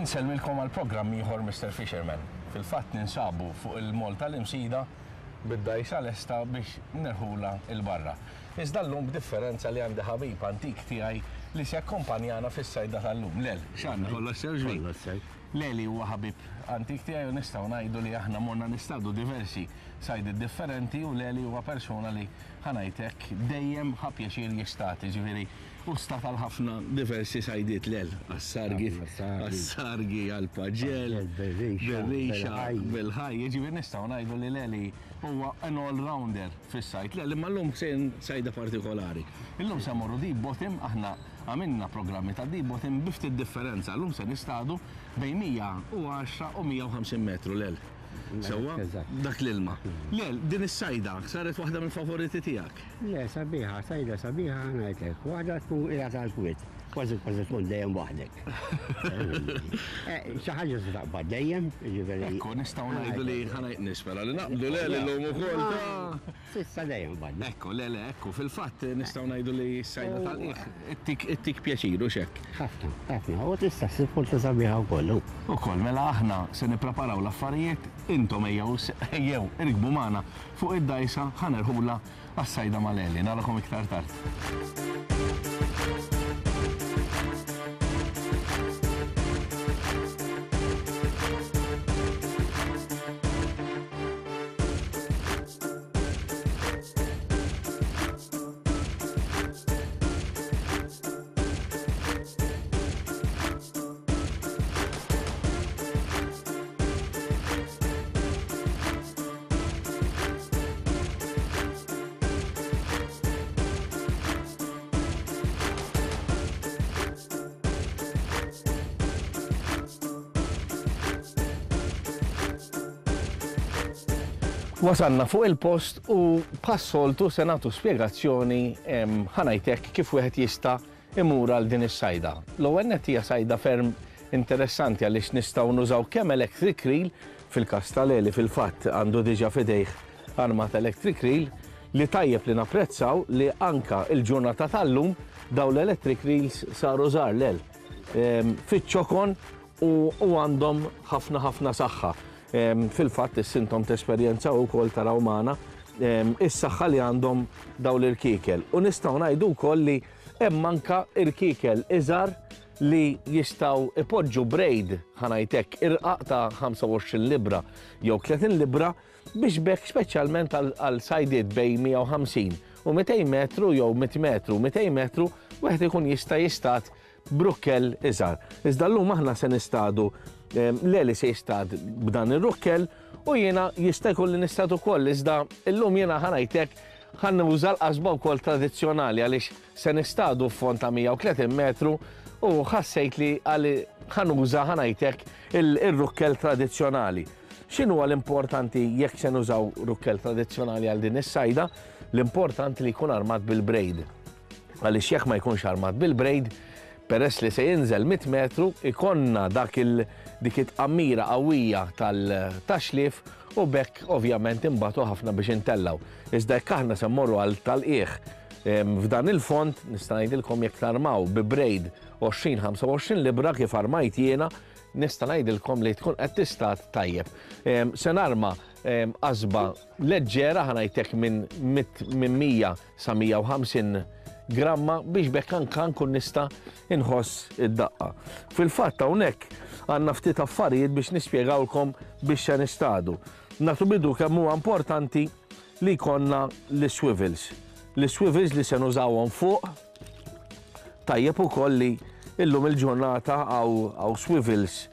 Insellmilkom għal programm ieħor Mister Fisherman. Fil-fatt ninsabu fuq il-moll tal-Imsida bid-dgħajsa lesta biex nerħulha 'l barra. Iżda llum b'differenza li għandi ħabib antik tiegħi li se jakkompanjana fis-sajda tal-lum. Lel, x'għandna kollox sew xbin? Kollox sew. Leli huwa ħabib antik tiegħi u nistgħu ngħidu li aħna morna nistadu diversi sajdiet differenti u Leli huwa persuna li ħa ngħid hekk dejjem ħa pjaċir jistad, jiġifieri hu stad għal ħafna diversi sajdiet Lel, għas-sargi, għas-sargi, għall-paġell, bir-rixa, bil-ħaj, jiġifieri nistgħu ngħidu li Leli huwa an all-rounder fis-sajd. Lel, imma llum sejrin sajda partikolari. Illum se mmorru deep bottom, aħna għamilna programmi ta' deep bottom bi ftit differenza. Llum se nistadu bejn 110 u 150 metru, Lel. Sewwa? Dak l-ilma. Lel, din is-sajda saret waħda mill-favoriti tiegħek? Le, sabiħa, sajda sabiħa ħa ngħidlek. Waħda tkun qiegħed għall-kwiet, kważi kważi tkun dejjem waħdek. Eh, xi ħaġa se taqbad dejjem, jiġifieri. Ekku, nistgħu ngħidu li ħa ngħid nispera li naqbdu le lillum ukoll ta'. S'issa dejjem qbadna. Ekku, le le, ekku, fil-fatt nistgħu ngħidu li s-sajda tal-qiegħ ittik ittik pjaċir, hux hekk? Ħafna, ħafna, u tista' ssib ħuta sabiħa wkoll. Ukoll, mela aħna se nippreparaw l-affarijiet, intom ejjew ejjew irkbu magħna fuq id-dgħajsa ħa nerħulha għas-sajda mal-għeli. Narakom iktar tard. Wasalna fuq il-post u bħas-soltu se nagħtu spjegazzjoni ħa ngħid hekk kif wieħed jista' imur għal din is-sajda. L-ewwel nett hija sajda ferm interessanti għaliex nistgħu nużaw kemm electric reel, fil-każ ta' Leli fil-fatt għandu diġà f'idejh armata electric reel, li tajjeb li napprezzaw li anka il-ġurnata tal-lum dawn l-electric reels saru żgħar Lel fiċ-ċokon u għandhom ħafna ħafna saħħa. Fil-fatt is-sintom tesperjenzaw ukoll taraw magħna is-saħħa li għandhom dawn l-irkiekel. U nistgħu ngħidu wkoll li hemm anka irkiekel iżgħar li jistgħu ipoġġu braid, ħa ngħid hekk, irqaq ta' 25 libbra jew 30 libbra biex b'hekk speċjalment għal sajdiet bejn 150 u 200 metru jew 100 metru u 200 metru wieħed ikun jista' jistad b'rukkel iżgħar. Iżda llum aħna se nistadu, Leli se jistad b'dan ir-rukkel u jiena jista' jkun li nistad ukoll iżda llum jiena ħa ngħid hekk ħa nuża l-qasba wkoll tradizzjonali għaliex se nistadu f'fond ta' 130 metru u ħassejt li ħa nuża ħa ngħid hekk ir-rukkel tradizzjonali. X'inhuwa l-importanti jekk se nużaw rukkel tradizzjonali għal din is-sajda? L-importanti li jkun armat bil-braid. Għaliex jekk ma jkunx armat bil-braid, peress li se jinżel 100 metru, ikollna dak il dik it-tqammira qawwija tal-taxlif u b'hekk ovvjament inbatu ħafna biex intellgħu. Iżda jekk aħna se mmorru għal tal-qiegħ f'dan il-fond, nista' ngħidilkom jekk tarmaw bi braid 20-25 libbra kif armajt jiena, nista' ngħidilkom li tkun qed tistad tajjeb. Se narma qasba leġġera ħa ngħid hekk minn 100 sa 150 gramma biex b'hekk anka nkun nista' inħoss id-daqqa. Fil-fatt hawnhekk għandna ftit affarijiet biex nispjegawlkom biex se nistadu. Nagħtu bidu kemm huwa importanti li jkollna l-swivels. L-swivels li se nużawhom fuq tajjeb ukoll li illum il-ġurnata hawn swivels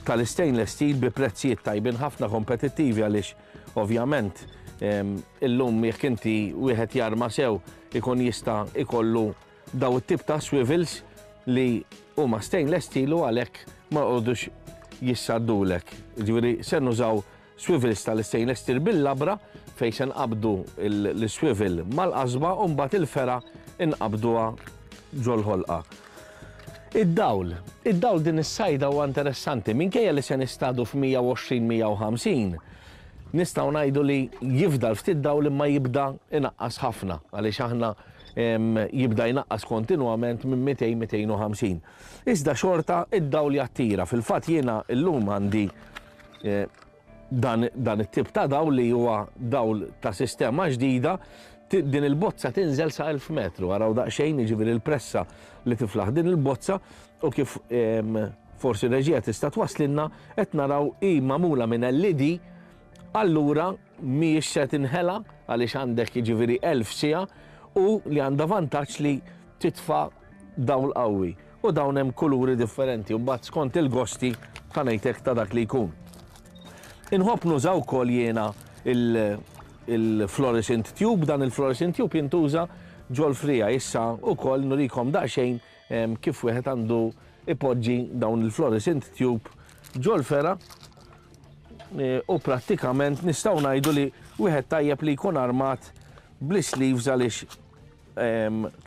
tal-stainless steel bi prezzijiet tajbin ħafna kompetittivi għaliex ovvjament illum jekk inti wieħed jarma sew ikun jista' ikollu daw it-tip ta' swivels li huma stainless steel u għalhekk ma jqogħdux jissaddulek. Ġifieri se nużaw Swivels tal-istainless steel bil-labra fejn se nqabbdu l-swivel mal-qasba u mbagħad il-fergħa nqabbduha ġol-ħolqa. Id-dawl. Id-dawl din is-sajda huwa interessanti. Minkejja li se nistadu f'120-150, nistgħu ngħidu li jifdal ftit dawl imma jibda inaqqas ħafna għaliex aħna. Jibda jnaqqas kontinwament minn 200-250. Iżda xorta id-dawl jattira. Fil-fatt jiena llum għandi eh, dan, dan it-tip ta' dawl li huwa dawl ta' sistema ġdida, din il-bozza tinżel sa' 1000 metru, araw daqsxejn jiġifieri l-pressa li tiflaħ din il-bozza u kif forsi reġija tista' twaslinna qed naraw hi magħmula minn LED allura mhijiex se tinħela għaliex għandek jiġifieri 1000 siegħa u li għandha vantaġġ li titfa' dawl qawwi u dawn hemm kuluri differenti u mbagħad skont il-gosti ħa ngħidlek ta' dak li jkun. Inħobb nuża wkoll jiena il-fluorescent tube, dan il-fluorescent tube jintuża ġol-frija issa wkoll nurikom daqsxejn kif wieħed għandu ipoġġi dawn il-fluorescent tube ġol-fera e, u prattikament nistgħu ngħidu li wieħed tajjeb li jkun armat bl-sleeves għaliex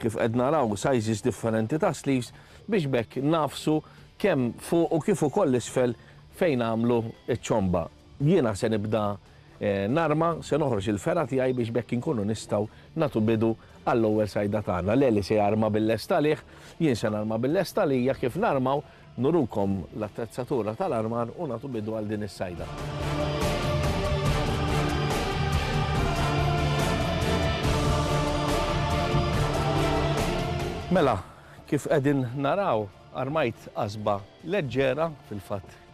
kif qed naraw sizes differenti ta' sleeves biex bekk nafsu kemm fuq u kif ukoll isfel fejn għamlu ċ-ċomba. Jiena se nibda narma, se noħroġ il-fergħa tiegħi biex b'hekk inkunu nistgħu nagħtu bidu għall-ewwel sajda tagħna. Leli se jarma bil-lest għalih, jien se narma bil-lest għalija, kif narmaw nurukom l-attrezzatura tal-armar u nagħtu bidu għal din is-sajda. Mela, kif qegħdin naraw, armajt qasba leġġera, fil-fatt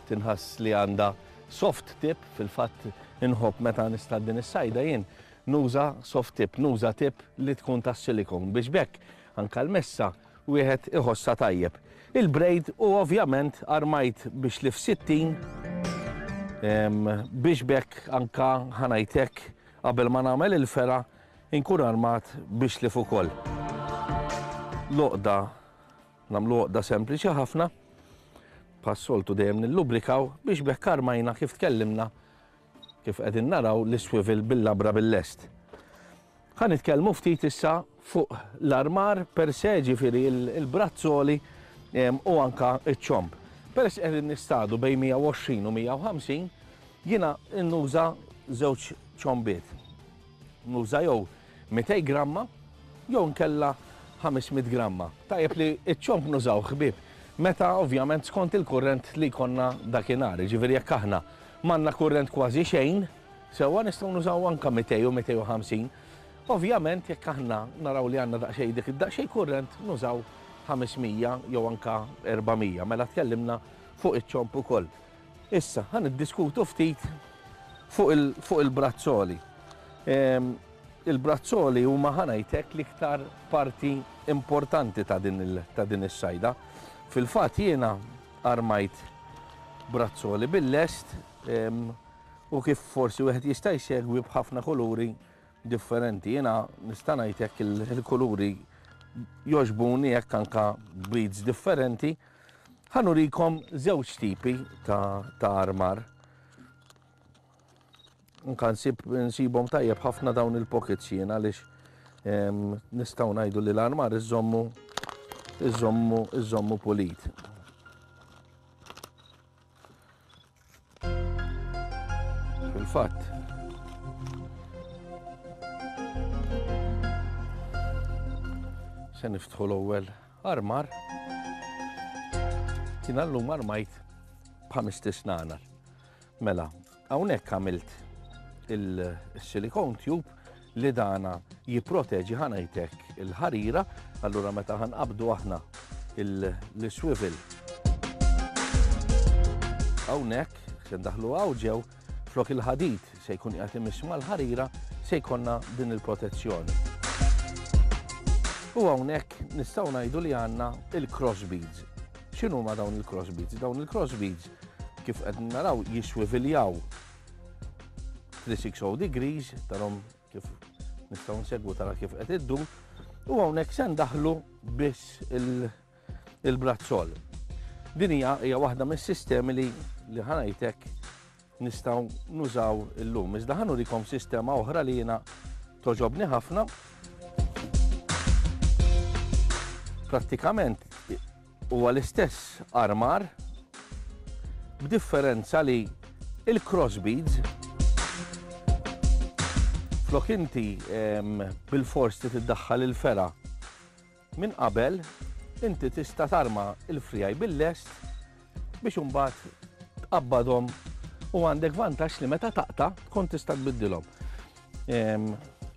tinħass li għandha Soft tip, fil-fatt inħobb meta nistad din is-sajda jien nuża soft tip, nuża tip li tkun tas-silicone biex b'hekk anke l-messa wieħed iħossha tajjeb. Il-braid u ovvjament armajt biex li f'60 biex b'hekk anke ħa ngħid hekk qabel ma nagħmel il-fergħa inkun armat biex lif ukoll. L-għoqda Nagħmlu għoqda sempliċi ħafna, bħas-soltu dejjem nillubrikaw biex b'hekk armajna kif tkellimna kif qegħdin naraw l-iswivel bil-labra bil-lest. Ħa nitkellmu ftit issa fuq l-armar per se, ġifieri il-brazzoli u anka iċ-ċomb. Peress qegħdin nistadu bejn 120 u 150, jiena nuża żewġ ċombiet. Nuża jew 200 gramma jew inkella 500 gramma. Tajjeb li ċ-ċomb nużawh ħbieb meta ovvjament skont il-kurrent li jkollna dakinhar. Jiġifieri jekk aħna m'għandna kurrent kważi xejn, sewwa nistgħu nużaw anke 200 u 250. Ovvjament jekk aħna naraw li għandna daqsxejn dik id-daqsxejn kurrent nużaw 500 jew anke 400. Mela tkellimna fuq iċ-ċomb ukoll. Issa, ħa niddiskutu ftit fuq il-brazzoli. Ehm, il-brazzoli huma ħa ngħidlek l-iktar parti importanti ta' din is-sajda. Fil-fatt jiena armajt brazzoli bil-lest ehm, u kif forsi wieħed jista' jsegwi b'ħafna kuluri differenti. Jiena nista' ngħid hekk il-kuluri jogħġbuni hekk anka beads differenti. Ħa nurikom żewġ tipi ta', ta armar. Nka nsib nsibhom tajjeb ħafna dawn il-pockets jien għaliex nistgħu ngħidu li l-armar iżommu iżommu iżommu pulit. Fil-fatt, se niftħu l-ewwel armar. Kien allum armajt b'ħames tisnanar. Mela, hawnhekk għamilt il-silicone tube li dana jipproteġi ħanajtek il-ħarira, allura meta ħanqabdu aħna l-swivel. Hawnhekk se ndaħlu hawn ġew flok il-ħadid se jkun qiegħed imiss mal-ħarira se jkollna din il-protezzjoni. U hawnhekk nistgħu ngħidu li għandna il-cross beads. X'inhuma dawn il-cross beads? Dawn il-cross beads kif qed naraw jiswiviljaw 360 degrees, tarom kif nistgħu nsegwu tara kif qed iddu, u hawnhekk se ndaħlu biss il-brazzol. Din hija hija waħda mis-sistemi li li ħanajtek nistgħu nużaw illum. Iżda ħanurikom sistema oħra li jiena toġobni ħafna. Prattikament Huwa l-istess armar b'differenza li il-cross beads. Flok inti bil-fors trid iddaħħal il-fergħa minn qabel, inti tista' tarma l-frijaj bil-lest biex imbagħad tqabbadhom u għandek vantaġġ li meta taqta' tkun tista' tbiddilhom.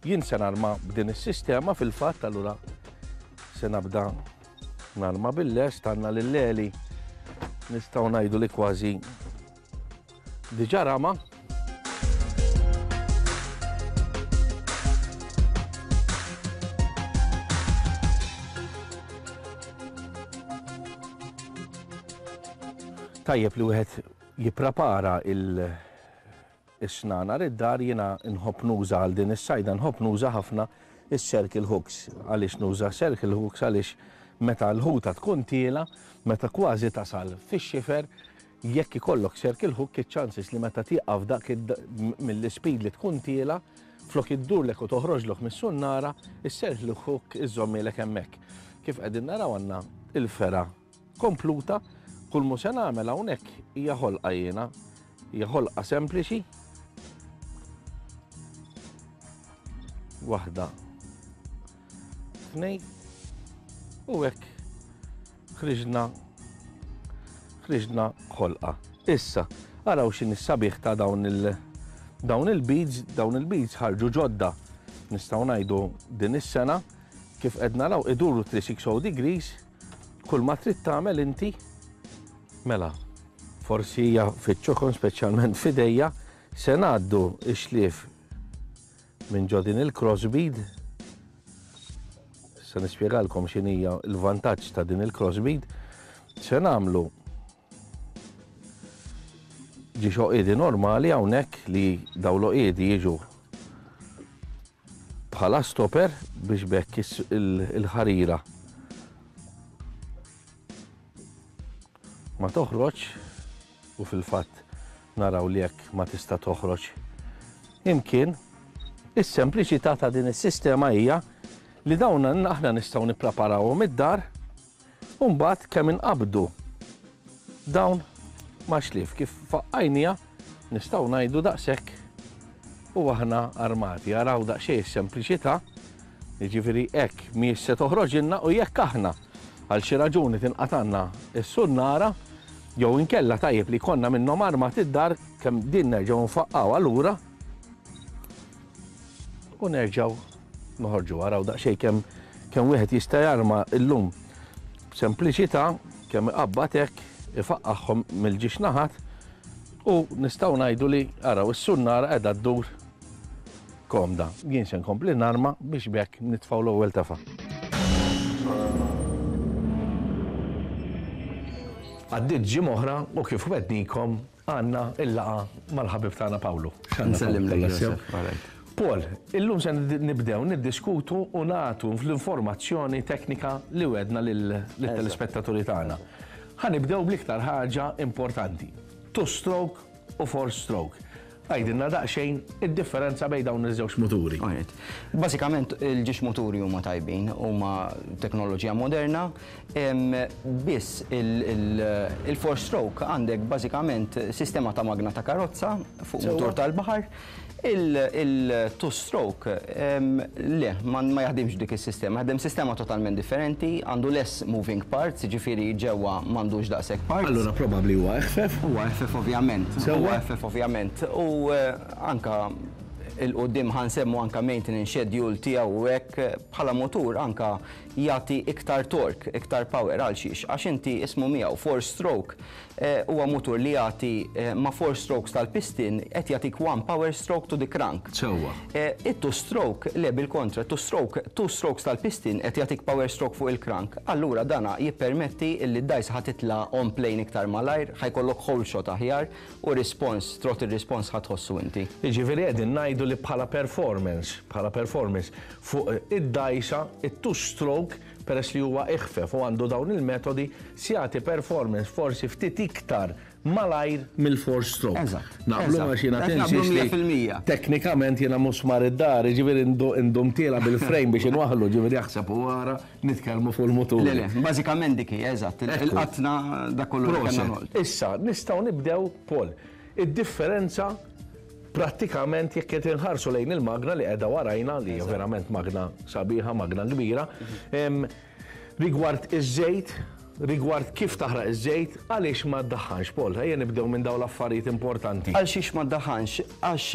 Jien se narma b'din is-sistema fil-fatt allura se nabda narma bil-lest għandna lil Eli nistgħu ngħidu li kważi diġà rama. Tajjeb li wieħed jipprepara il- is-snanar id-dar jiena nħobb nuża għal din is-sajda nħobb nuża ħafna is-circle hooks. Għaliex nuża circle hooks għaliex meta l-ħuta tkun tiela, meta kważi tasal fix-xifer, jekk ikollok circle hook iċ-chances li meta tieqaf dak mill-ispeed li tkun tiela, flok iddurlek u toħroġlok mis-sunnara, is-circle hook iżżommilek hemmhekk. Kif qegħdin naraw għandna il-fergħa kompluta, kull mu se nagħmel hawnhekk hija ħolqa jiena, hija ħolqa sempliċi. Waħda. Tnej. U hekk ħriġna ħriġna ħolqa. Issa, araw x'inhi s-sabiħ ta' dawn il dawn il-beads, dawn il-beads ħarġu ġodda. Nistgħu ngħidu din is-sena kif qed naraw iduru 360 degrees Kull ma trid tagħmel inti, mela, forsi hija fiċ-ċokon speċjalment f'idejja, se ngħaddu x-xlief minn ġo din il-crossbead. Se nispjegalkom x'inhija l-vantaġġ ta' din il-crossbead. Se nagħmlu ġiex oqiedi normali hawnhekk li daw l-oqiedi jiġu bħala stopper biex b'hekk il-ħarira ma toħroġ u fil-fatt naraw li hekk ma tista' toħroġ imkien. Is-sempliċità ta' din is-sistema hija li dawn aħna nistgħu nippreparawhom id-dar U mbagħad kemm inqabdu dawn ma' xlief kif faqqajniha nistgħu ngħidu daqshekk u aħna armati. Araw daqsxejn is-sempliċità, jiġifieri hekk mhijiex se toħroġilna u jekk aħna għal xi raġuni tinqatgħalna s-sunnara jew inkella tajjeb li jkollna minnhom armati d-dar kemm din nerġgħu nfaqqgħuha lura u nerġgħu noħorġu. Araw daqsxejn kemm kemm wieħed jista' jarma llum b'sempliċità kemm iqabbad hekk ifaqqagħhom mill-ġiex naħat u nistgħu ngħidu li araw is-sunnara qiegħda ddur komda. Jien se nkompli narma biex b'hekk nitfgħu l-ewwel tefa'. Għaddiet ġimgħa oħra u kif wegħdnikom Għandna il-laqgħa mal-ħabib tagħna Pawlu. Nsellimlek Josef. Paul, illum se nibdew niddiskutu u nagħtu l-informazzjoni teknika li wedna lill-telespettaturi tagħna. Ħa nibdew bl-iktar ħaġa importanti. Two stroke u four stroke. Għidilna daqsxejn id-differenza bejn dawn iż-żewġ muturi. Bażikament il-ġiex muturi huma tajbin, huma teknoloġija moderna, Biss il-four stroke għandek bażikament sistema ta' magna ta' karozza fuq mutur tal-baħar. Il-two stroke le, ma jaħdimx dik is-sistema, jaħdem sistema totalment differenti, għandu less moving parts, jiġifieri ġewwa m'għandux daqshekk parts. Allura probabbli huwa eħfef. Huwa eħfef ovvjament. Huwa eħfef ovvjament. U anke 'il quddiem ħa nsemmu anke maintenance schedule tiegħu u hekk bħala mutur anke jagħti iktar torque, iktar power għal xiex? Għax inti ismu miegħu four stroke huwa mutur li jagħti ma' four strokes tal-piston qed jagħtik one power stroke to the crank. Sewwa. It-two stroke le bil-kontra, two stroke, two strokes tal-piston qed jagħtik power stroke fuq il-crank. Allura dana jippermetti illi d-dgħajsa ħa titla' on plane iktar malajr, ħa jkollok hole shot aħjar u response, throttle response ħa tħossu inti. Jiġifieri qegħdin ngħidu li bħala performance, bħala performance, Fuq id-dgħajsa, it-two stroke, peress li huwa iħfef u għandu dawn il-metodi, se jagħti performance forsi ftit iktar malajr mill-four stroke. Eżatt. Naqblu għax jiena tinsisti. Teknikament jiena musmar id-dar, jiġifieri ndum tiela' bil-frame biex inwaħħlu, jiġifieri aħseb u ara nitkellmu fuq il-mutur. Le, le, bażikament dik hi, eżatt. Il-qatna dak kollu li kellna noqgħod. Issa, nistgħu nibdew, Paul, id-differenza. Prattikament jekk qed inħarsu lejn il-magna li qiegħda warajna li hija verament magna sabiħa, magna kbira, rigward iż-żejt, rigward kif taħraq iż-żejt, għaliex ma ddaħħanx, Paul? Ejja nibdew minn dawn l-affarijiet importanti. Għal xiex ma ddaħħanx? Għax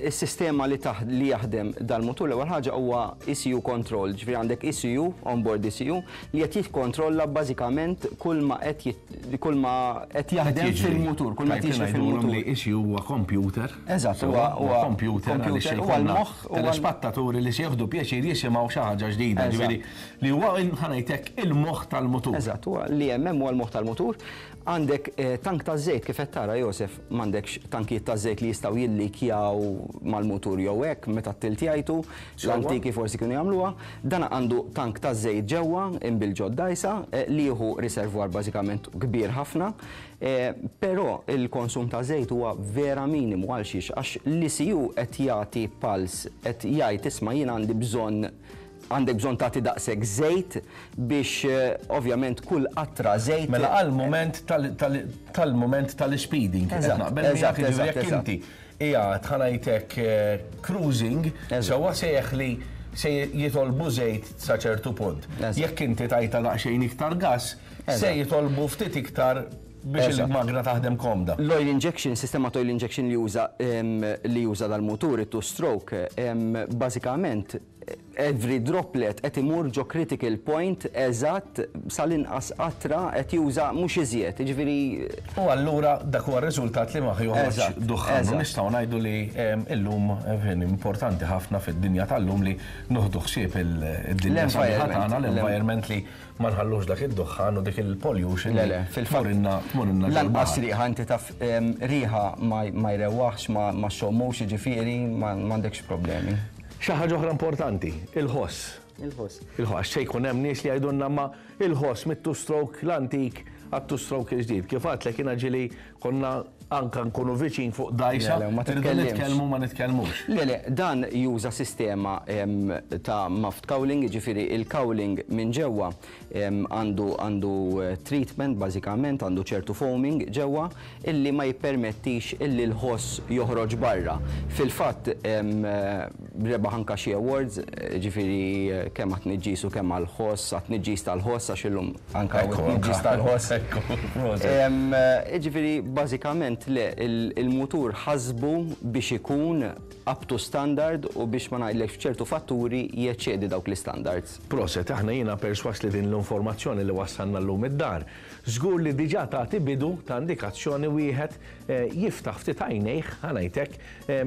is-sistema li li jaħdem dal-mutur l-ewwel ħaġa huwa ECU control, ġifieri għandek ECU, onboard ECU, li qed jikkontrolla bażikament kull ma qed kull ma qed jaħdem fil-mutur, kull ma qed jiġri fil-mutur. Li ECU huwa computer. Eżatt, huwa computer għaliex huwa l-moħħ telespattaturi li se jieħdu pjaċir jisimgħu xi ħaġa ġdida, ġifieri li huwa ħa ngħid hekk il-moħħ tal-mutur. Eżatt, huwa li hemm hemm huwa l-moħħ tal-mutur. Għandek eh, tank ta' żejt kif qed tara Josef, m'għandekx tankijiet ta' żejt li jistgħu jillikjaw mal-mutur jew hekk meta t-tilt jgħajtu, l-antiki forsi kienu jagħmluha. Dan għandu tank ta' żejt ġewwa imbil ġod dgħajsa eh, li jieħu riservwar bażikament kbir ħafna. Eh, però il-konsum ta' żejt huwa vera minimu għal xiex għax l-ECU qed jagħti pulse qed jgħid isma' jien għandi bżonn għandek bżonn tagħti daqshekk żejt biex ovvjament kull qatra żejt. Mela għall-mument tal-mument tal-speeding. Eżatt, eżatt, eżatt. Jekk inti qiegħed ħa ngħidlek cruising, sewwa se jeħli se jitolbu żejt sa ċertu punt. Jekk inti tajta daqsxejn iktar gas, se jitolbu ftit iktar biex il-magna taħdem komda. L-oil injection, sistema ta' oil injection li juża li juża dal-mutur, it-two stroke, bażikament every droplet qed imur ġo critical point eżatt sal-inqas qatra qed juża mhux iżjed, jiġifieri. U allura dak huwa r-riżultat li ma joħroġx duħħan. U nistgħu ngħidu li illum importanti ħafna fid-dinja tal-lum li nieħdu ħsieb id-dinja sabiħa tagħna, l-environment li ma nħallux dak id-duħħan u dik il-pollution. Le, le, fil-fatt. Tmur Lanqas riħa inti taf riħa ma jrewwaħx, ma xxommux, jiġifieri m'għandekx problemi. Xi ħaġa oħra importanti, il-ħoss. Il-ħoss. Il-ħoss, għax se jkun hemm nies li jgħidulna ma il-ħoss mit-two stroke l-antik għat-two stroke il-ġdid. Kif għadtlek jiena ġieli konna anka nkunu viċin fuq dgħajsa, irridu nitkellmu ma nitkellmux. Le, le, dan juża sistema ta' muffed cowling, jiġifieri il-cowling minn ġewwa għandu għandu treatment bażikament, għandu ċertu foaming ġewwa illi ma jippermettix illi l-ħoss joħroġ barra. Fil-fatt rebaħ anka xi awards, ġifieri kemm għat-tniġġis u kemm għall-ħoss, għat-tniġġis tal-ħoss għax illum anka hawn it-tniġġis tal-ħoss. Ġifieri bażikament le, il-mutur ħasbu biex ikun up to standard u biex ma ngħidlekx f'ċertu fatturi jeċċedi dawk l-istandards. Proset, aħna jiena persważ li din l-informazzjoni li wassalna llum id-dar, żgur li diġà tagħti bidu ta' indikazzjoni wieħed jiftaħ ftit għajnejh, ħa ngħid hekk,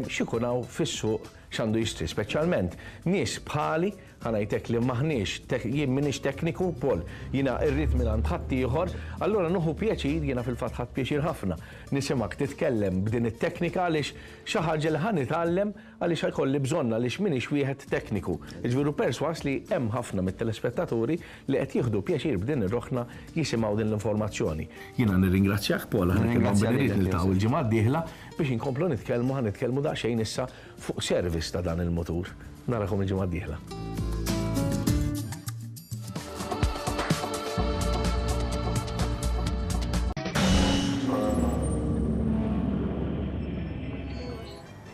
x'ikun hawn fis-suq x'għandu jixtri, speċjalment nies bħali, ħa ngħid hekk li m'aħniex, jien m'iniex tekniku, Paul, jiena rrid mingħand ħaddieħor, allura nieħu pjaċir, jiena fil-fatt ħadt pjaċir ħafna nisimgħek titkellem b'din it-teknika għaliex xi ħaġa li ħa nitgħallem għaliex ħa jkolli bżonn għaliex m'iniex wieħed tekniku. Jiġifieri persważ li hemm ħafna mit-telespettaturi li qed jieħdu pjaċir b'din ir-rokna jisimgħu din l-informazzjoni. Jiena nirringrazzjak Paul, aħna kien hawn billi rrid niltaqgħu l-ġimgħa d-dieħla biex inkomplu nitkellmu, ħa nitkellmu daqsxejn issa fuq service ta' dan il-mutur. Narakom il-ġimgħa d-dieħla.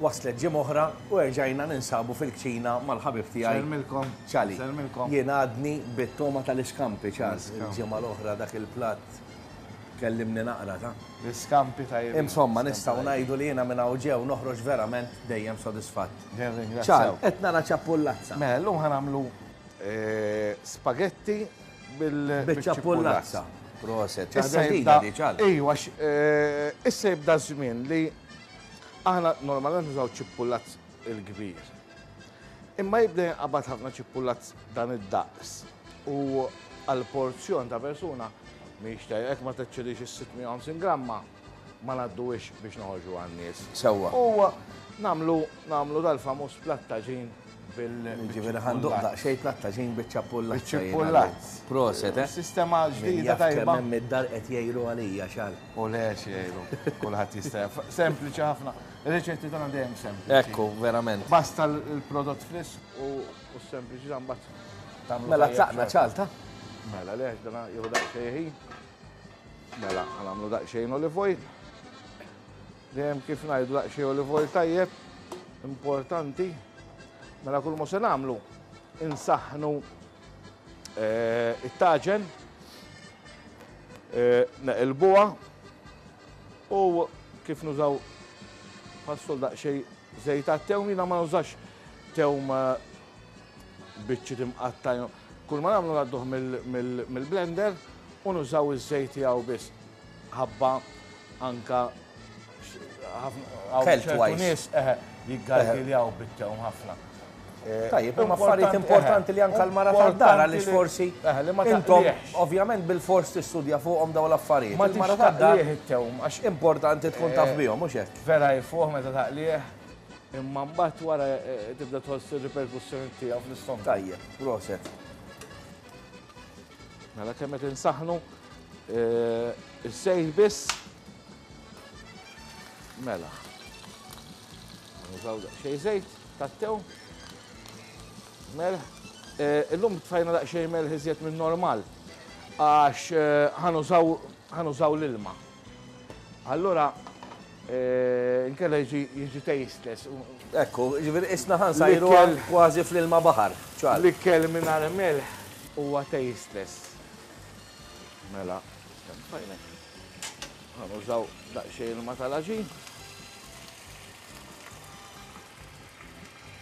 Waslet ġimgħa oħra u erġajna ninsabu fil-kċina mal-ħabib tiegħi. Sellmilkom. Ċali. Sellmilkom. Jien għadni bit-toma tal-iskampi, Charles. Il-ġimgħa l-oħra dak il-platt kellimni naqra ta'. L-iskampi tajjeb. Insomma, nistgħu ngħidu li jiena minn hawn ġew noħroġ verament dejjem sodisfatt. Nirringrazzjaw. Charles, qed nara ċappullazza. Mela, llum ħa nagħmlu spagetti bil-ċappullazza. Proset. Issa jibda. Ejwa, issa jibda żmien li aħna normalment nużaw ċippullazz il-kbir. Imma jibda jinqabad ħafna ċippullazz dan id-daqs. U għal porzjon ta' persuna mhix tajjeb ma teċċedix is-650 gramma ma ngħadduhiex biex noħorġu għan-nies. Sewwa. U nagħmlu nagħmlu dal-famuż plattaġin bil Ġifieri ħanduq daqsxejn plattaġin biċ-ċappullazz. Biċ-ċippullazz. Proset, eh? Sistema ġdida tajba. Hemm id-dar qed jgħiru għalija xal. U le jgħiru, kulħadd jista' Sempliċi ħafna. Ir-riċetti tagħna dejjem sempliċi. Ekku, verament. Basta l-prodott frisk u s-sempliċi mbagħad tagħmlu. Mela tlaqna ċalta. Mela le għax dana jieħu daqsxejn ħin. Mela, nagħmlu daqsxejn olive oil. Dejjem kif ngħidu daqsxejn olive oil tajjeb, importanti. Mela kull ma se nagħmlu insaħħnu eh, it-taġen, eh, neqilbuha u kif nużaw passol daqsxejn żejt għat-tewm jiena ma nużax tewm eh, biċċiet imqatta'. Kull ma nagħmlu ngħadduh mill-blender u nużaw iż-żejt tiegħu biss. Ħabba anka ħafna nies jiggargiljaw bit-tewm ħafna. Eh, Tajjeb, huma affarijiet importanti li anka l-mara tad-dar għaliex forsi intom ovvjament bil-fors tistudja fuqhom dawn l-affarijiet. Ma mara tad-dar it-tewm għax importanti tkun taf eh, bihom mhux hekk. Vera jfuħ meta taqlih. Imma mbagħad wara tibda tħoss ir-riperkussjoni tiegħu fl-istonku. Tajjeb, proset. Mela kemm qed insaħħnu eh, iż-żejt biss. Mela. Nużaw daqsxejn żejt tat-tew. Melħ. Eh, illum tfajna daqsxejn melħ iżjed minn normal għax eh, ħanużaw l-ilma. Allura, inkella jiġi jiġi tasteless. Ekku, ġifieri isna ħa nsajru kważi fl-ilma baħar. Ċar. L-ikel mingħajr melħ huwa tasteless. Mela, kemm fajnek. Ħa nużaw daqsxejn ilma tal-għaġin.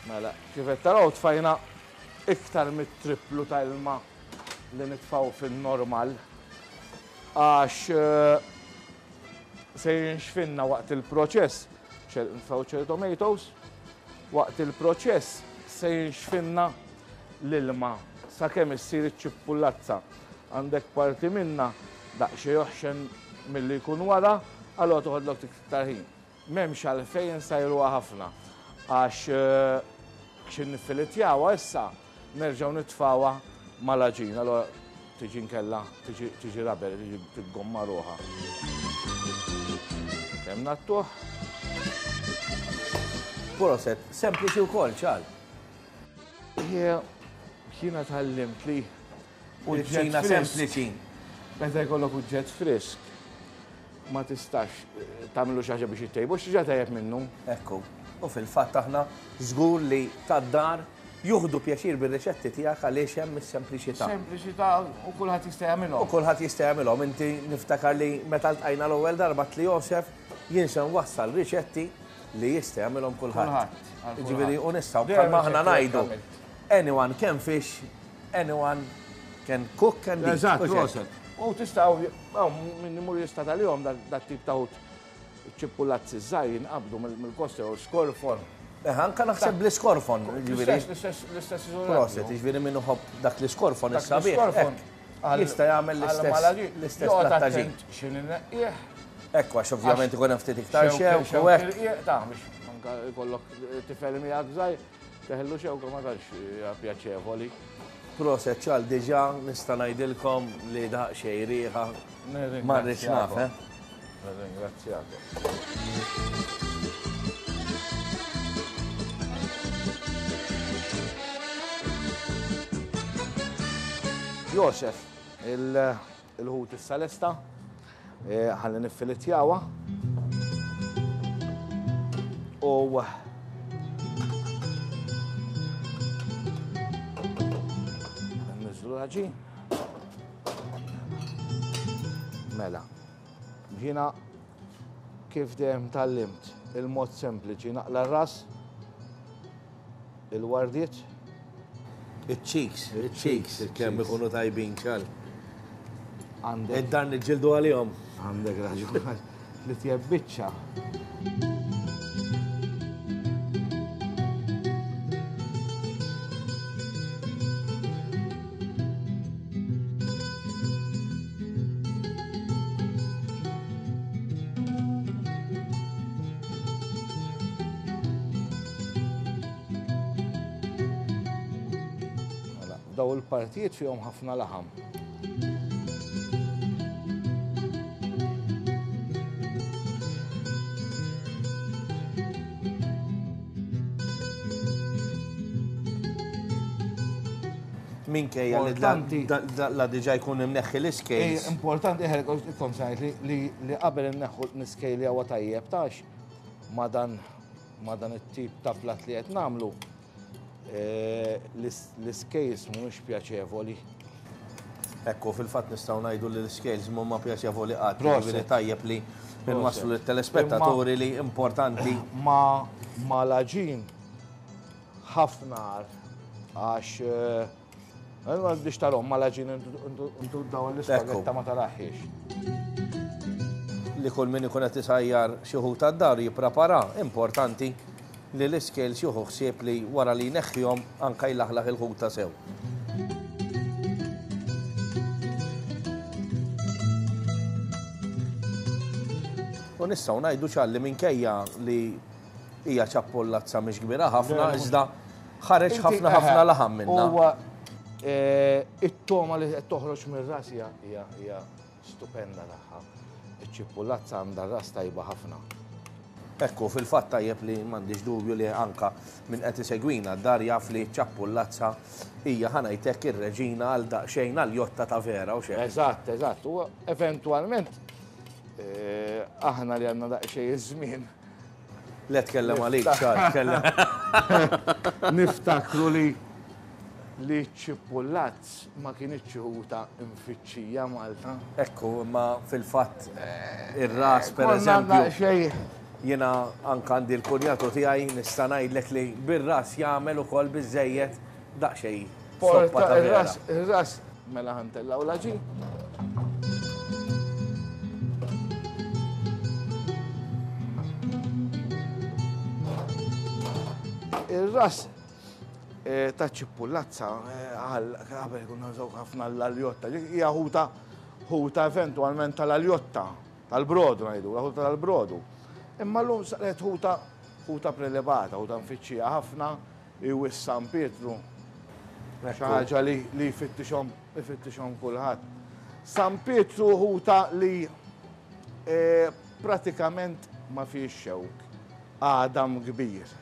Mela, kif qed taraw tfajna iktar mit-triplu ta' ilma li nitfgħu fin-normal. Għax se jinxfinna waqt il-proċess, nitfgħu cherry tomatoes, waqt il-proċess se jinxfinna l-ilma sakemm issir iċ-ċippullazza. Għandek parti minnha daqsxejn oħxen milli jkun wara, allura toħodlok iktar ħin. M'hemmx għalfejn insajruha ħafna għax xi niffilitjawha issa nerġgħu nitfgħuha mal-għaġin allura tiġi nkella tiġi rubber, tiġi tiggomma ruħha. Kemm ngħattuh? Proset, sempliċi wkoll, ċar. Jiena tgħallimt li Oġġett sempliċi. Meta jkollok oġġett frisk, ma tistax eh, tagħmlu xi ħaġa biex ittejbu, xi tajjeb minnu. Ekku. U fil-fatt aħna żgur li tad-dar juħdu pjaċir bir-riċetti tiegħek għaliex hemm is-sempliċità. Sempliċità u kulħadd jista' jagħmilhom. U kulħadd jista' jagħmilhom. Inti niftakar li meta ltqajna l-ewwel darba tli Josef jien se nwassal riċetti li jista' jagħmilhom kulħadd. Ġifieri u nistgħu bħalma aħna ngħidu. Anyone can fish Anyone can cook and eat. Eżatt, proset. U tista' minn imur jista' tal-jom dat tip ta' ħut ċippulazzi żgħir jinqabdu mill-kosta jew skorfon. Eh, anka naħseb bl-iskorfon, ġifieri. L-istess Proset, ġifieri min iħobb dak l-iskorfon is-sabiħ. Jista' jagħmel l-istess l-istess plattaġin. X'inhi neqqieħ. Ekku għax ovvjament ikun hemm ftit iktar xewk u hekk. Ta' biex anka jkollok tifel miegħek żgħir. Teħillu xewka ma tantx hija pjaċevoli. Proset ċal diġà nista' ngħidilkom li daqsxejn riħa ma rridx naf, eh. Nirringrazzjakom. Josef, Il-ħut issa lesta, eh, ħalli niffilitjawha. U Nniżlu l-ħaġin. Mela, ġina kif dejjem tallimt il-mod sempliċi naqla r-ras Il-wardiet. Iċ-cheeks, iċ-cheeks, kemm ikunu tajbin ċar. Għandek. Id-dar niġġieldu għalihom. Għandek raġun. Li tjeb biċċa. Mela, daw il-partijiet fihom ħafna laħam. Minkejja li la diġa jkun imneħħi l-iskejl. Importanti ħer kont li li qabel inneħħu l-iskejl li huwa tajjeb tax. ma' dan ma' dan it-tip ta' platt li qed nagħmlu eh, l-scales mhumiex pjaċevoli. Ekku, fil-fatt nistgħu ngħidu li l-scales mhuma pjaċevoli qatt. Jiġifieri tajjeb li nwasslu lit-telespettaturi li importanti. Ma ma l-għaġin ħafna għax eh, Biex tarom ma l-għaġin intu daw l-ispagetta ma taraħiex. Li kull min ikun qed isajjar xi ħut għad-dar jipprepara, importanti li l-iscales jieħu ħsieb li wara li jneħħihom anke jlaħlaħ il-ħuta sew. U nistgħu ngħidu ċar li minkejja li hija ċappollazza mhix kbira ħafna, iżda ħareġ ħafna ħafna laħam minnha. Huwa eh, it-toma li qed toħroġ mir-ras hija hija stupenda tagħha. Iċ-ċipullazza għandha ras tajba ħafna. Ekku, fil-fatt tajjeb li m'għandix dubju li anka min qed isegwina d-dar jaf li ċ-ċappullazza hija ħa ngħid hekk ir-reġina għal daqsxejn għal jotta ta' vera u xejn. Eżatt, eżatt. U eventwalment eh, aħna li għandna daqsxejn iż-żmien Le tkellem għalik, ċar, tkellem. Niftakru li li ċipullazz ma kienx ħuta mfittxija Malta. Ekku, imma fil-fatt ir-ras per eżempju. Jiena anka għandi l-kunjatu tiegħi nista' ngħidlek li bir-ras jagħmel ukoll biżejjed daqsxejn soppa ta' vera. Ir-ras mela ħantellaw l-għaġin. Ir-ras eh, ta' ċipullazza eh, għal qabel konna nużaw ħafna l-aljotta, hija ħuta ħuta eventwalment tal-aljotta, tal-brodu ngħidu, ħuta tal-brodu. Imma llum saret ħuta ħuta prelibata, ħuta mfittxija ħafna, Iwiss San Pietru, xi ħaġa li li jfittixhom ifittixhom kulħadd. San Pietru ħuta li e, pratikament ma fiex xewk, għadam kbir.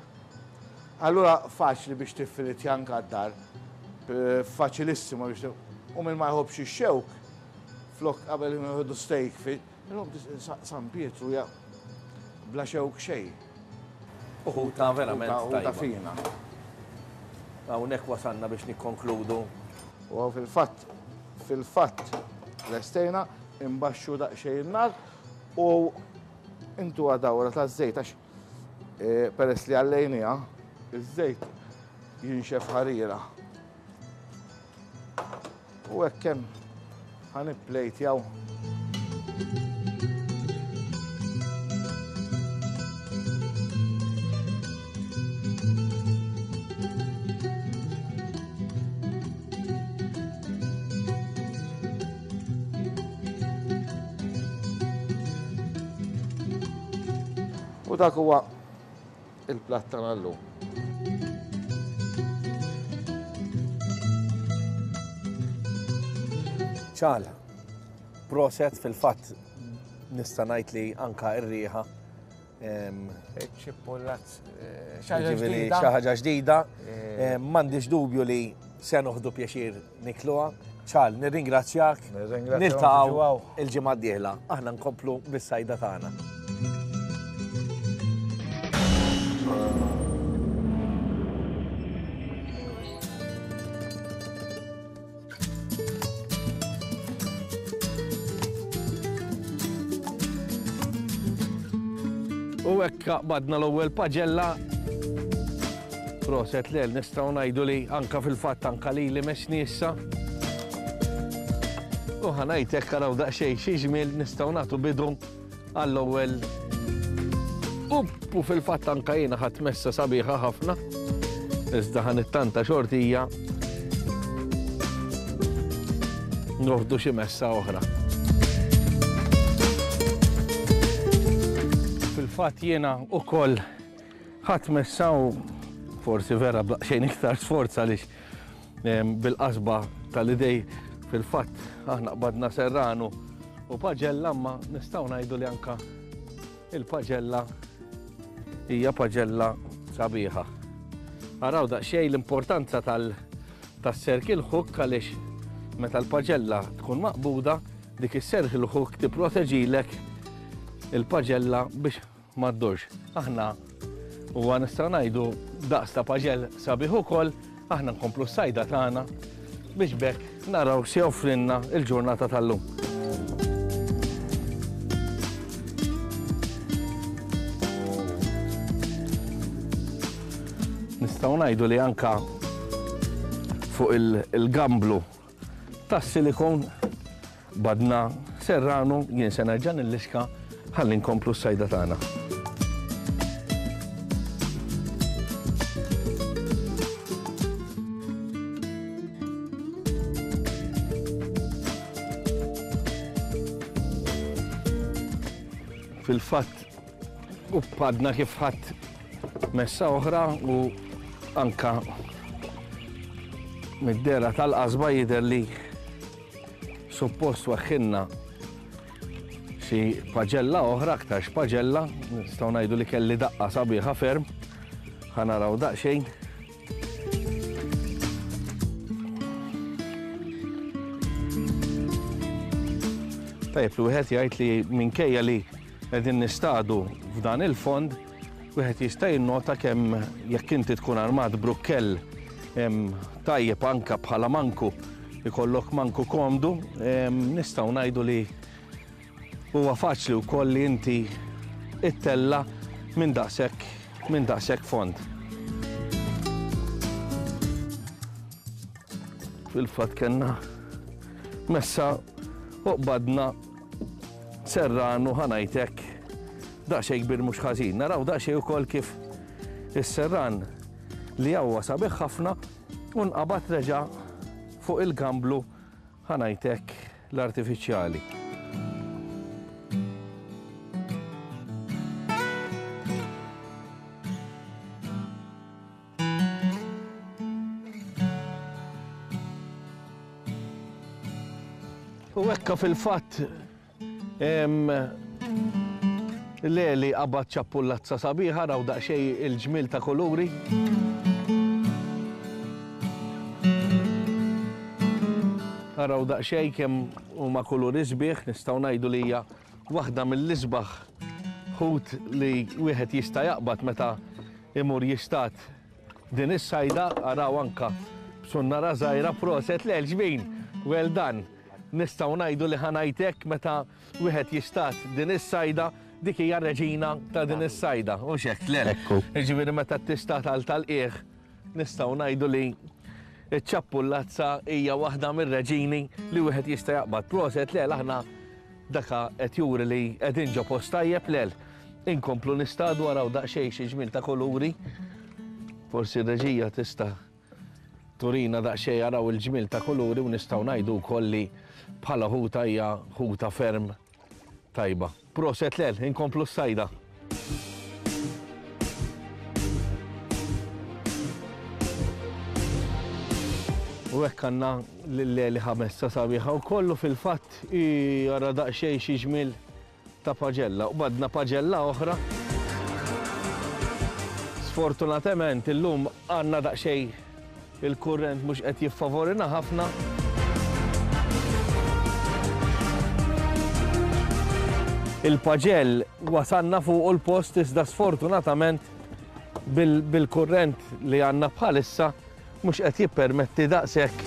Allura faċli biex tiffilit janka d-dar, faċilissima biex u minn ma jħobbx ix-xewk, flok qabel jieħdu steak fi, San Pietru ja bla xewk xejn. U ħuta verament tajba. Ħuta fina. Hawnhekk wasalna biex nikkonkludu. U fil-fatt, fil-fatt lestejna, imbaxxu daqsxejn in-nar u intuha dawra taż-żejt għax eh, peress li għallejniha, iż-żejt jinxef ħarira. U hekk hemm ħa nipplejtjaw. U dak huwa il-platt tagħna llum. Ċal, proset fil-fatt nista' ngħid li anka r-riħa Ċippullat eh, xi ħaġa ġdida. Eh. M'għandix dubju li se noħdu pjaċir nikluha. Ċal, nirringrazzjak. Niltaqgħu il-ġimgħa d-dieħla. Aħna nkomplu bis-sajda tagħna. U hekk qbadna l-ewwel paġella. Proset lel nistgħu ngħidu li anka fil-fatt anka lili messni issa. U ħa ngħid hekk araw daqsxejn xi ġmiel nistgħu nagħtu bidu għall-ewwel u fil-fatt anka jiena ħadd messa sabiħa ħafna. Iżda ħa nittanta xortija noħdu xi messa oħra. Fil-fatt jiena ukoll ħadd messa u forsi vera b'daqsxejn iktar sforz għaliex bil-qasba tal-idej fil-fatt aħna qbadna serranu u paġella ma nistgħu ngħidu li anka il-paġella hija paġella sabiħa. Araw daqsxejn l-importanza tal tas-circle hook għaliex meta l-paġella tkun maqbuda dik is-circle hook tipproteġilek il-paġella biex ma ddurx. Aħna huwa nistgħu ngħidu daqs ta' paġell sabiħ ukoll, aħna nkomplu s-sajda tagħna biex b'hekk naraw x'se joffrilna l-ġurnata tal-lum. Nistgħu ngħidu li anka fuq il-gamblu tas-silikon Badna Serrano, jien se nerġa' nilliska ħalli nkomplu s-sajda tagħna. Fil-fatt, u b'għadna kif ħadd messa oħra u anka mid-dehra tal-qasba jidher li Suppost weħħilna xi paġella oħra, aktarx paġella, nistgħu ngħidu li kelli daqqa sabiħa ferm. Ħa naraw daqsxejn. Tajjeb li wieħed jgħid li minkejja li qegħdin nistadu f'dan il-fond, Wieħed jista' jinnota kemm jekk inti tkun armat b'rukkell tajjeb anke bħala manku ikollok manku komdu, nistgħu ngħidu li huwa faċli wkoll li inti ittella' minn daqshekk minn daqshekk fond. Fil-fatt kellna messa u qbadna Serranu ħa ngħid hekk daqsxejn kbir mhux ħażin. Naraw daqsxejn ukoll kif is-serran li huwa sabiħ ħafna u nqabad reġa' fuq il-gamblu ħa ngħid hekk l-artifiċjali. U hekka fil-fatt Leli qabad ċappullazza sabiħa raw daqsxejn il-ġmiel ta' kuluri. Araw daqsxejn kemm huma kuluri sbieħ, nistgħu ngħidu li hija waħda mill-isbaħ ħut li wieħed jista' jaqbad meta imur jistad din is-sajda, araw anka b'sunnara żgħira proset le ġbin, well done. Nistgħu ngħidu li ħa ngħid hekk meta wieħed jistad din is-sajda, dik hija r-reġina ta' din is-sajda, hux hekk le? Ekku. Jiġifieri meta tistad għal tal-qiegħ nistgħu ngħidu li ċ-ċappullazza hija waħda mir-reġini li wieħed jista' jaqbad. Proset le aħna Daka qed juri li qegħdin ġo post tajjeb lel. Inkomplu nistadu araw daqsxejn xi ġmiel ta' kuluri. Forsi r-reġija tista' turina daqsxejn araw il-ġmiel ta' kuluri u nistgħu ngħidu wkoll li bħala ħuta hija ħuta ferm tajba. Proset lel, inkomplu s-sajda. U hekk għandna lil Eli ħamessa sabiħa u kollu fil-fatt Ii, ara daqsxejn xi ġmiel ta' paġella. U badna paġella oħra. Sfortunatament illum għandna daqsxejn il-kurrent mhux qed jiffavorina ħafna. Il-paġell wasalna fuq il-post iżda sfortunatament bil-kurrent li għandna bħalissa mhux qed jippermetti daqshekk.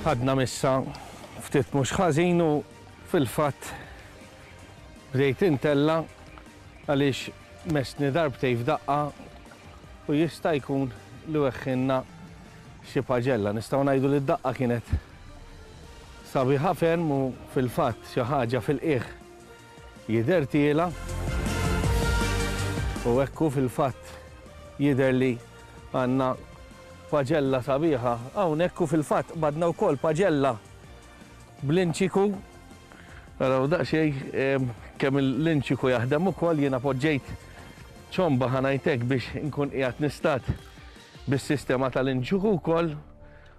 Ħadna missa ftit mhux ħażin u fil-fatt bdejt intella' għaliex messni darbtejn f'daqqa u jista' jkun li weħħilna xi paġella. Nistgħu ngħidu li d-daqqa kienet sabiħa ferm u fil-fatt xi ħaġa fil-qiegħ jidher tiela' u hekk hu fil-fatt jidher li għandna paġella sabiħa hawnhekk u fil-fatt qbadna wkoll paġella bl-inċiku. Araw daqsxejn kemm l-inċiku jaħdem ukoll jiena poġġejt ċomba ħa ngħid hekk biex inkun qiegħed nistat bis-sistema tal-inċiku wkoll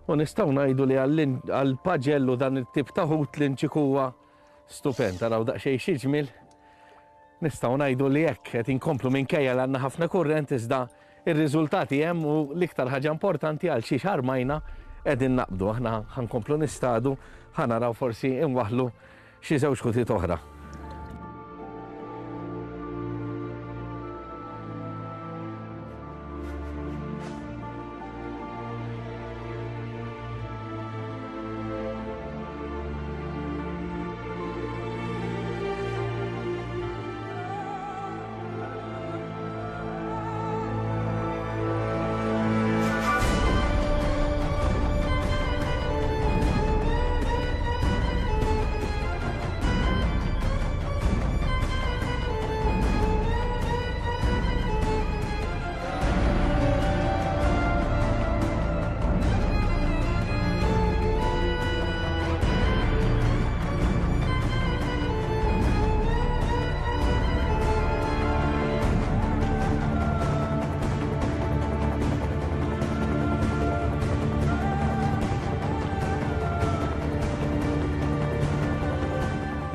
u nistgħu ngħidu li għall-paġell u dan it-tip ta' ħut l-inċiku huwa stupend. Araw daqsxejn xi ġmiel. Nistgħu ngħidu li hekk qed inkomplu minkejja li għandna ħafna kurrent iżda r-riżultati hemm u l-iktar ħaġa importanti għal xiex armajna qegħdin naqbdu. Aħna ħa nkomplu nistadu, ħa naraw forsi inwaħħlu xi żewġ ħutiet oħra.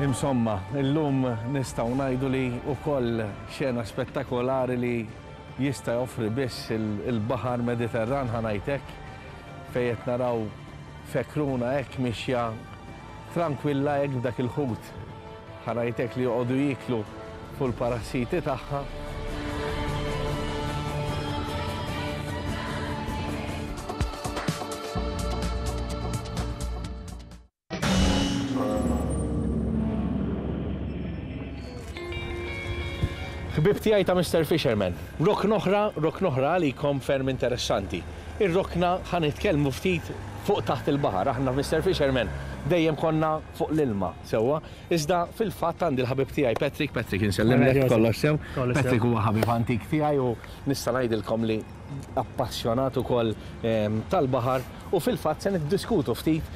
Insomma, illum nistgħu ngħidu li wkoll xena spettakolari li jista' joffri biss il-baħar Mediterran ħa ngħid hekk, fejn qed naraw fekruna hekk mixja trankwilla hekk b'dak il-ħut ħa ngħid hekk li joqogħdu jieklu fuq il-parassiti tagħha. Ħbieb tiegħi ta' Mister Fisherman, rokna oħra, rokna oħra għalikom ferm interessanti. Ir-rokna ħa nitkellmu ftit fuq taħt il-baħar. Aħna f'Mister Fisherman dejjem konna fuq l-ilma, sewwa. Iżda fil-fatt għandi l-ħabib tiegħi Patrick, Patrick insellimlek kollox sew. Patrick huwa ħabib antik tiegħi u nista' ngħidilkom li appassjonat ukoll tal-baħar u fil-fatt se niddiskutu ftit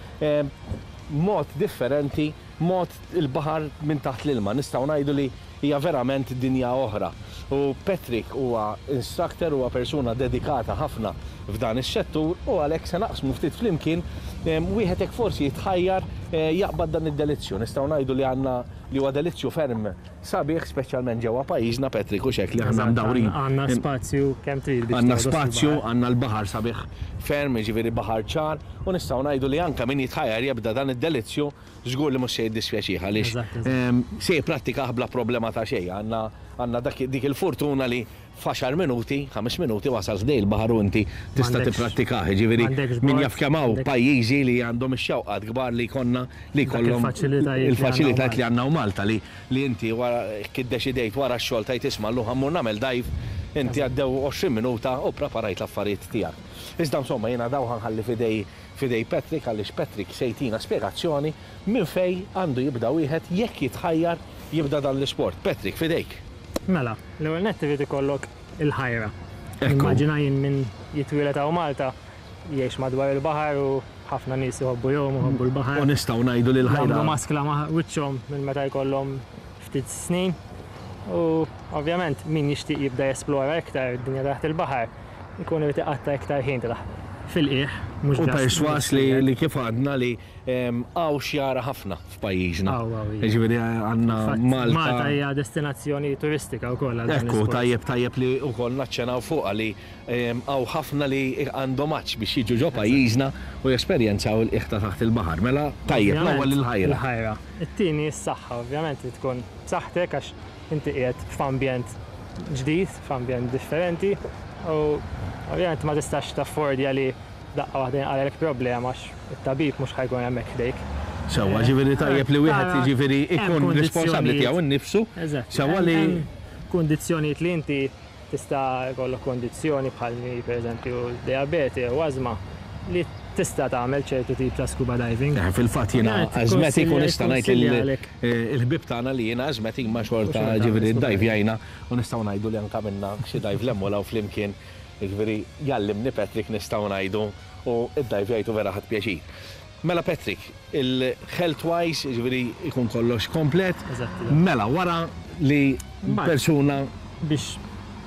mod differenti, mod il-baħar minn taħt l-ilma. Nistgħu ngħidu li hija verament dinja oħra. U Patrick huwa instructor, huwa persuna dedikata ħafna f'dan is-settur u għalhekk se naqsmu ftit flimkien wieħed hekk forsi jitħajjar jaqbad dan id-delizzju. Nistgħu ngħidu li għandna li huwa delizzju ferm Sabiħ speċjalment ġewwa pajjiżna Patrick hux hekk li aħna mdawrin. Għandna spazju kemm trid biex Għandna spazju, għandna l-baħar sabiħ ferm, jiġifieri baħar ċar, u nistgħu ngħidu li anke min jitħajjar jibda dan id-delizzju żgur li mhux se jiddispjaċih għaliex se jipprattikah bla problema ta' xejn. Għandna għandna dak dik il-fortuna li F'għaxar minuti, ħames minuti wasal ħdej il-baħar u inti tista' tipprattikah. Jiġifieri min jaf kemm hawn pajjiżi li għandhom ix-xewqat kbar li jkollna li jkollhom il-faċilitajiet li għandna hawn Malta li li inti wara jekk iddeċidejt wara x-xogħol tgħid isma' llum ħa mmur nagħmel dive, inti għaddew 20 minuta u ppreparajt l-affarijiet tiegħek. Iżda insomma jiena dawn ħa nħalli f'idej f'idej Patrick għaliex Patrick se jtina spjegazzjoni minn fejn għandu jibda wieħed jekk jitħajjar jibda dan l-isport. Patrick, f'idejk. Mela, l-ewwel nett irid ikollok il-ħajra. Nimmaġina jien min jitwieled hawn Malta jgħix madwar il-baħar u ħafna nies iħobbu jgħumu, iħobbu l-baħar. U nistgħu ngħidu li l-ħajra. Jagħmlu maskla ma' wiċċhom minn meta jkollhom ftit snin. U ovvjament min jixtieq jibda jesplora iktar id-dinja taħt il-baħar, ikun irid iqatta' iktar ħin fil-qiegħ, mhux U persważ li kif għadna li Hawn x'jara ħafna f'pajjiżna. Hawn, hawn, iva. Jiġifieri għandna Malta. Malta hija destinazzjoni turistika wkoll għal dan Ekku, tajjeb tajjeb li wkoll naċċenaw fuqha li hawn ħafna li għandhom għatx biex jiġu ġo pajjiżna u jesperjenzaw il-qiegħ ta' taħt il-baħar. Mela tajjeb, l-ewwel il-ħajra. Il-ħajra. It-tieni s-saħħa, ovvjament trid tkun b'saħħtek għax inti qiegħed f'ambjent ġdid, f'ambjent differenti u ovvjament ma tistax taffordja li Daqqa waħda jinqalgħalek problema għax it-tabib mhux ħa jkun hemmhekk ħdejk. Sewwa, ġifieri tajjeb li wieħed jiġifieri jkun responsabbli tiegħu nnifsu. Sewwa li. Kundizzjonijiet li inti tista' jkollok kundizzjoni bħal mi pereżempju dijabete jew ażma li tista' tagħmel ċertu tip ta' scuba diving. Fil-fatt jiena asthmatic u nista' ngħid lill-ħbieb tagħna li jiena asthmatic ma xorta ġifieri ddajvjajna u nistgħu ngħidu li anke għamilna xi dive 'l hemm u 'l hawn flimkien. Jiġifieri jgħallimni Patrick nistgħu ngħidu u ddajvjajt u vera ħadt pjaċir. Mela Patrick, il-health wise, jiġifieri jkun kollox komplet. Mela wara li persuna. Biex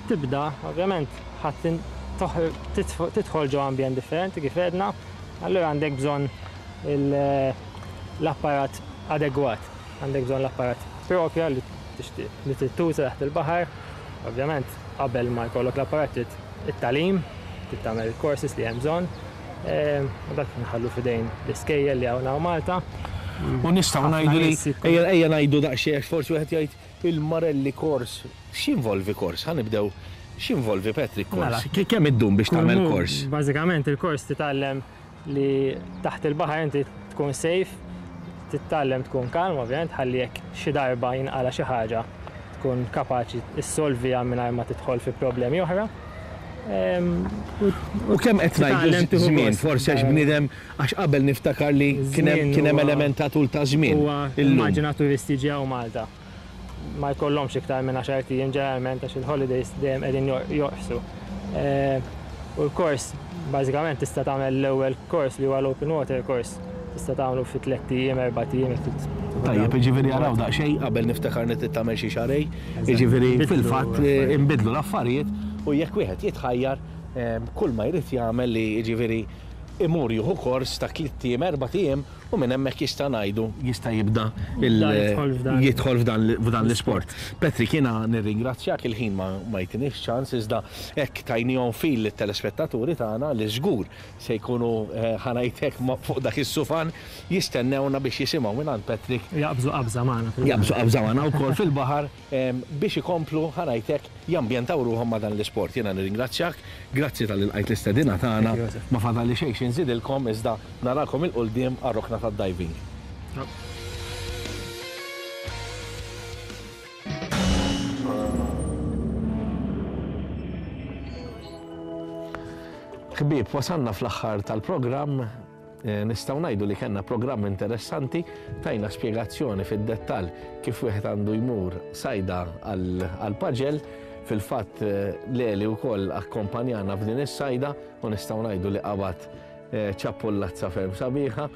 tibda, ovvjament ħa tidħol ġo ambjent differenti kif għedna, allura għandek bżonn l-apparat adegwat, għandek bżonn l-apparat propja li. tixtieq li trid tuża taħt il-baħar. Ovvjament qabel ma jkollok l-apparat trid it-tagħlim, trid tagħmel il-courses li hemm bżonn. U dak nħallu f'idejn l-iskejjel li hawn hawn Malta. U nistgħu ngħidu li, ejja ngħidu daqsxejn għax forsi wieħed jgħid il-Marelli kors, x'jinvolvi kors? Ħa nibdew, x'jinvolvi Patrick kors? Mela. Kemm iddum biex tagħmel kors? Bażikament il-kors titgħallem li taħt il-baħar inti tkun safe, titgħallem tkun kalm ovvjament ħalli jekk xi darba jinqala' xi ħaġa tkun kapaċi ssolviha mingħajr ma tidħol fi problemi oħra. U kemm qed ngħidu żmien, forsi għax bniedem għax qabel niftakar li kien hemm element ta' tul ta' żmien. Huwa immaġina turisti jiġi hawn Malta. Ma jkollhomx iktar minn għaxart ijiem ġeneralment għax il-holidays dejjem qegħdin jorqsu. U l-kors bażikament tista' tagħmel l-ewwel kors li huwa l-open water course tista' tagħmlu fi tlett ijiem, erbat ijiem jekk trid. Tajjeb, jiġifieri araw daqsxejn qabel niftakar li trid tagħmel xi xahrejn, jiġifieri fil-fatt inbidlu l-affarijiet u jekk wieħed jitħajjar kull ma jrid jagħmel li jiġifieri imur jieħu kors ta' tlitt ijiem, erbat ijiem u minn hemmhekk jista' ngħidu jista' jibda jidħol f'dan l-isport. Patrick jiena nirringrazzjak il-ħin ma jtinix ċans iżda hekk tajnihom fil lit-telespettaturi tagħna li żgur se jkunu ħa ngħid hekk fuq dak is-sufan jistennewna biex jisimgħu mingħand Patrick. Jaqbżu qabża magħna fil-baħar. Jaqbżu qabża magħna wkoll fil-baħar biex ikomplu ħa ngħid hekk jambjentaw ruħhom ma' dan l-isport. Jiena nirringrazzjak, grazzi talli lqajt l-istedina tagħna. Ma fadalli xejn xi nżidilkom iżda narakom 'il quldiem għar-rokna tad-diving. Ħbieb, wasalna fl-aħħar tal-programm. Nistgħu ngħidu li kellna programm interessanti, tajna spjegazzjoni fid-dettall kif wieħed għandu jmur sajda għall-paġell. Fil-fatt Leli wkoll akkompanjana f'din is-sajda u nistgħu ngħidu li qabad ċappullazza ferm sabiħa.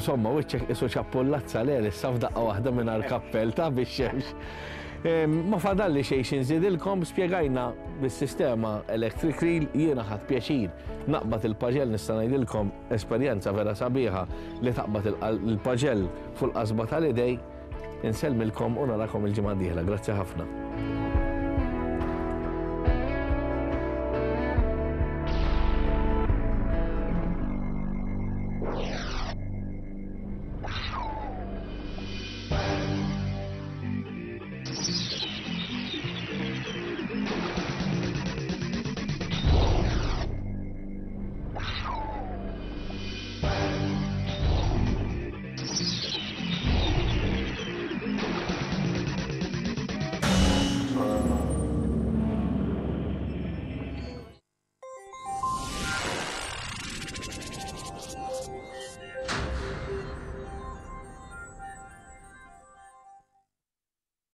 Insomma, wiċċek isu ċappullazza le issa f'daqqa waħda mingħajr kappell ta' bix-xemx. Ma fadalli xejn xi nżidilkom, spjegajna bis-sistema electric reel, jiena ħadt pjaċir naqbad il-paġell nista' ngħidilkom Esperjenza vera sabiħa li taqbad il-paġell fuq il-qasba tal-idej. Insellmilkom u narakom il-ġimgħa d-dieħla. Grazzi ħafna.